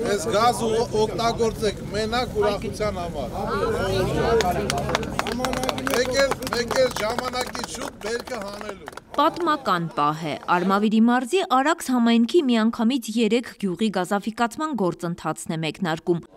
Այս գազը օգտագործեք մենակ ուրախության համար։ Մեկ էլ ժամանակից շուտ բերքը հանելու։ Պատմական պահ է։ Արմավիրի մարզի Արաքս համայնքի միանգամից 3 գյուղի գազաֆիկացման գործընթացն է մեկնարկում։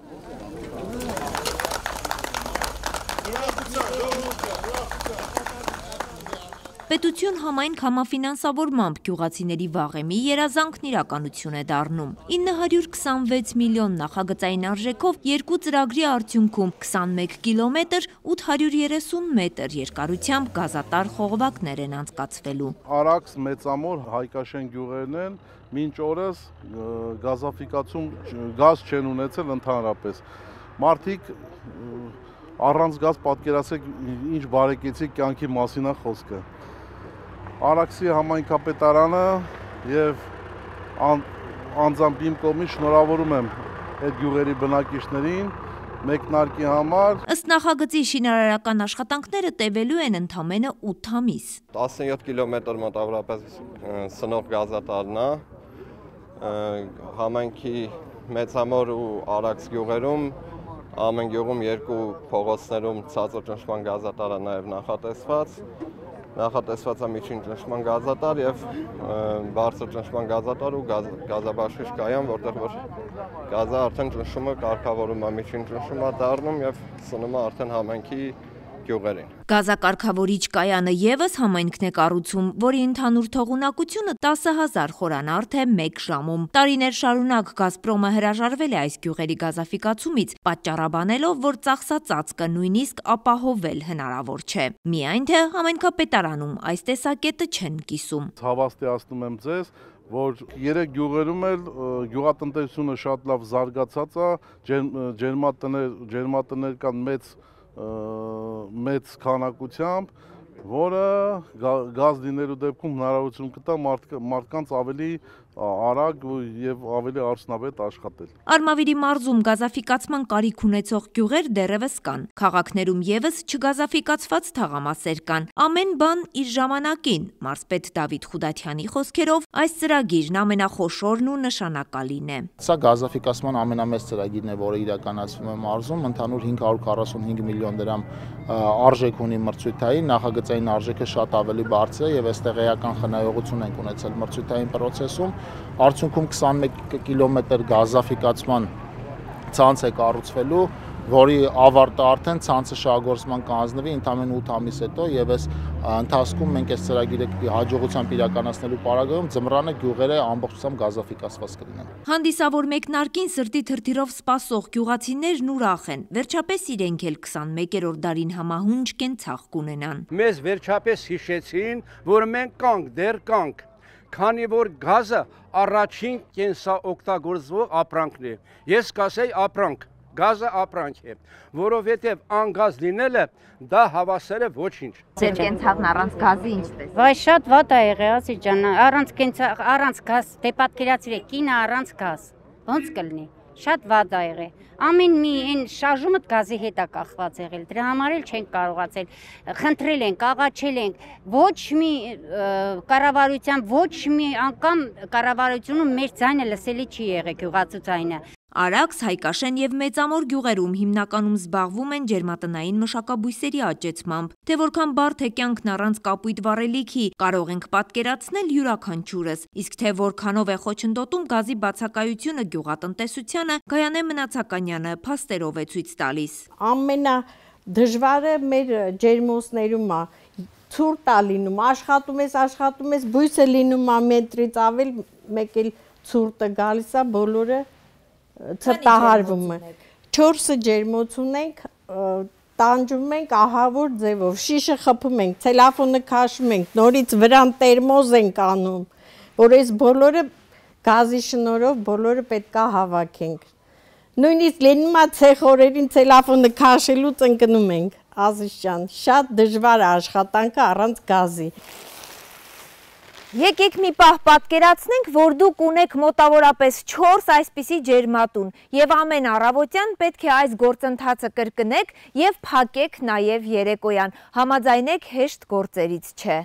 Պետություն համայնք համաֆինանսավորմամբ գյուղացիների վաղեմի երազանքն իրականություն է դառնում։ 926 միլիոն նախագծային արժեքով 2 ծրագրի արդյունքում 21 կիլոմետր 830 մետր երկարությամբ գազատար խողովակներ են անցկացվելու։ Արաքս, Մեծամոր, Հայկաշեն գյուղերն են, մինչ օրս գազաֆիկացում գազ չեն ունեցել ընդհանրապես։ Մարդիկ առանց գազ պատկերացրեք ինչ բարեկեցիկ կյանքի մասին է խոսքը։ Արաքսի համայնքապետարանը եւ անձամբ իմ կողմից շնորհավորում եմ այդ գյուղերի բնակիչներին մեկնարկի համար։ Ըստ նախագծի շինարարական աշխատանքները տևելու են ընդամենը 8 ամիս։ 17 կիլոմետր մոտավորապես սնող գազատարն է։ Համայնքի Մեծամոր ու Արաքս գյուղերում ամեն գյուղում 2 փողոցներում ցածր ճնշման գազատար է նաև նախատեսված է միջին ճնշման գազատար եւ բարձր ճնշման գազատար ու գազաբաշխիչ կայան, որտեղ որ գազը արդեն ճնշումը կարգավորում է միջին ճնշում է դառնում եւ սնում է արդեն համայնքի գյուղերին։ Գազակարգավորիչ կայանը եւս համայնքն է կառուցում, որի ընդհանուր թողունակությունը 10,000 խորանարդ է 1 ժամում։ Տարիներ շարունակ Գազպրոմը հրաժարվել է այս գյուղերի գազաֆիկացումից, պատճառաբանելով, որ ծախսածածկը նույնիսկ ապահովել հնարավոր չէ։ Միայն թե համայնքապետարանում այս տեսակետը չեն կիսում։ Հավաստիացնում եմ ձեզ, որ 3 գյուղերում էլ գյուղատնտեսությունը շատ լավ զարգացած է, ջերմատներ կան մեծ քանակությամբ, որը գազ լինելու դեպքում հնարավորություն կտա մարդկանց ավելի արագ եւ ավելի արդյունավետ աշխատել։ Արմավիրի մարզում գազաֆիկացման կարիք ունեցող գյուղեր դեռևս կան։ Քաղաքներում եւս չգազաֆիկացված թաղամասեր կան։ Ամեն բան իր ժամանակին։ Մարզպետ Դավիթ Խուդատյանի խոսքերով այս ծրագիրն ամենախոշորն ու նշանակալին է։ Սա գազաֆիկացման ամենամեծ ծրագիրն է, որը իրականացվում է մարզում, ընդհանուր 545 միլիոն դրամ արժեք ունի մրցույթային, նախագծային արժեքը շատ ավելի բարձր է եւ այստեղ էական խնայողություն ենք ունեցել մրցույթային process-ում, արդյունքում 21 կիլոմետր գազաֆիկացման ցանց է կառուցվելու, որի ավարտը արդեն ցանցը շահագործման կհանձնվի ընդամենը 8 ամիս հետո եւ այս ընթացքում մենք այս ծրագիրը հաջողությամբ իրականացնելու պարագայում ձմռանը գյուղերը ամբողջությամբ գազաֆիկացված կլինեն։ Հանդիսավոր մեկնարկին սրտի թրթիրով սպասող գյուղացիներն ուրախ են։ Վերջապես իրենք էլ 21-րդ դարին համահունչ կենցաղ կունենան։ Մեզ վերջապես հիշեցին, որ մենք կանք, դեռ կանք, քանի որ գազը առաջին կենսաօգտագործվող ապրանքն է։ Ես կասեի ապրանք, գազը ապրանք է, որովհետև անգազ լինելը դա հավասար է ոչինչ։ Ձեր կենցաղն առանց գազի ինչպես։ Վայ շատ վատ է եղել, ասի ջան, առանց գազ, դե պատկերացրեք, կինը առանց գազ, ոնց կլինի։ Շատ վատ է եղել։ Ամեն մի այն շարժումը գազի հետ է կախված եղել։ Դրա համար էլ չենք կարողացել։ Խնդրել ենք, աղաչել ենք, ոչ մի կառավարության, ոչ մի անգամ կառավարությունում մեր ձայնը լսելի չի եղել գյուղացու ձայնը։ Արաքս, Հայկաշեն եւ Մեծամոր գյուղերում հիմնականում զբաղվում են ջերմատնային մշակաբույսերի աճեցմամբ։ Թե որքան բարդ է կյանքն առանց կապույտ վառելիքի, կարող ենք պատկերացնել յուրաքանչյուրս, իսկ թե որքանով է խոչընդոտում գազի բացակայությունը գյուղատնտեսությանը, Գայանե Մնացականյանը փաստերով է ցույց տալիս։ Ամենադժվարը մեր ջերմոցներում է, ցուրտ է լինում, աշխատում ես, բույսը լինում է մետրից ավել, մեկ էլ ցուրտը գալիս է, բոլորը ցրտահարվում է։ 4 ջերմոց ունենք, տանջում ենք ահավոր ձևով, շիշը խփում ենք, ցելոֆանը քաշում ենք, նորից վրան տերմոզ ենք անում, որ այս բոլորը գազի շնորհով բոլորը պետքա հավաքենք։ Նույնիսկ լինում է ցեխորերին ցելոֆանը քաշելուց ընկնում ենք, Ազիզ ջան, շատ դժվար է աշխատանքը առանց գազի։ Եկեք մի պահ պատկերացնենք, որ դուք ունեք մոտավորապես 4 այսպիսի ջերմատուն եւ ամեն առավոտյան պետք է այս գործընթացը կրկնեք եւ փակեք նաեւ երեկոյան։ Համաձայնեք հեշտ գործերից չէ։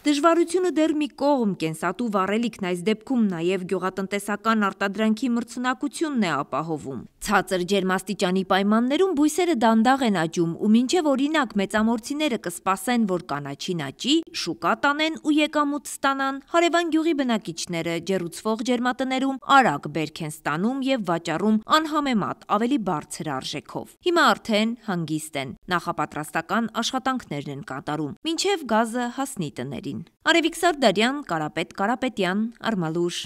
Դժվարությունը դեռ մի կողմ, կենսատու վառելիքն այս դեպքում նաև գյուղատնտեսական արտադրանքի մրցունակությունն է ապահովում։ Ցածր ջերմաստիճանի պայմաններում բույսերը դանդաղ են աճում ու մինչև օրինակ մեծամորձիները կսպասեն, որ կանաչին աճի, շուկա տանեն ու եկամուտ ստանան, հարևան գյուղի բնակիչները ջեռուցվող ջերմատներում արագ բերք են ստանում եւ վաճառում անհամեմատ ավելի բարձր արժեքով։ Հիմա արդեն հանգիստ են, նախապատրաստական աշխատանքներն են կատարում, մինչև գազը հասնի տներին։ Արևիկ Սարդարյան, Կարապետ Կարապետյան, Արմալուշ։